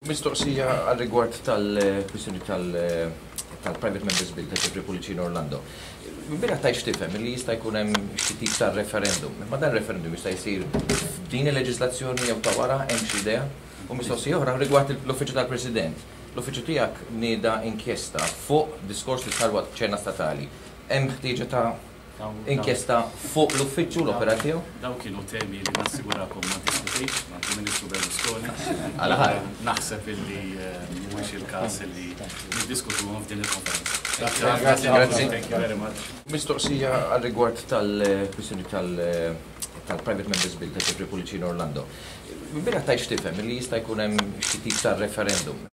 Mistoqsija għal rigward tal-kwistjoni tal-Private Members Bill ta' Jeffrey Pullicino Orlando. Ilbieraħ tajt x'tifhem li jista' jkun hemm xi tip ta' referendum. Imma dan referendum jista' jsir f'din il-leġislazzjoni jew ta' wara, hemm xi idea? U mistoqsija oħra rigward l-Uffiċċju tal-President. L-Uffiċċju tiegħek nieda inkjesta fuq diskors li sar waqt ċena statali. Hemm ħtieġa ta' inkjesta fuq l-uffiċċju, l-opera tiegħu? Dawn kienu temi li nassigurakom ma ddiskutejtx mal-Prim Ministru Berlusconi. Għala ħar. Naħseb illi mhuwiex il-każ illi niddiskutuhom f'din il-konferenza. Grazzi. Thank you very much. Mistoqsija għal rigward tal-kwistjoni tal-Private Members Bill ta' Jeffrey Pullicino Orlando. Ilbieraħ tajt x'tifhem li jista' jkun hemm xi tip ta' referendum.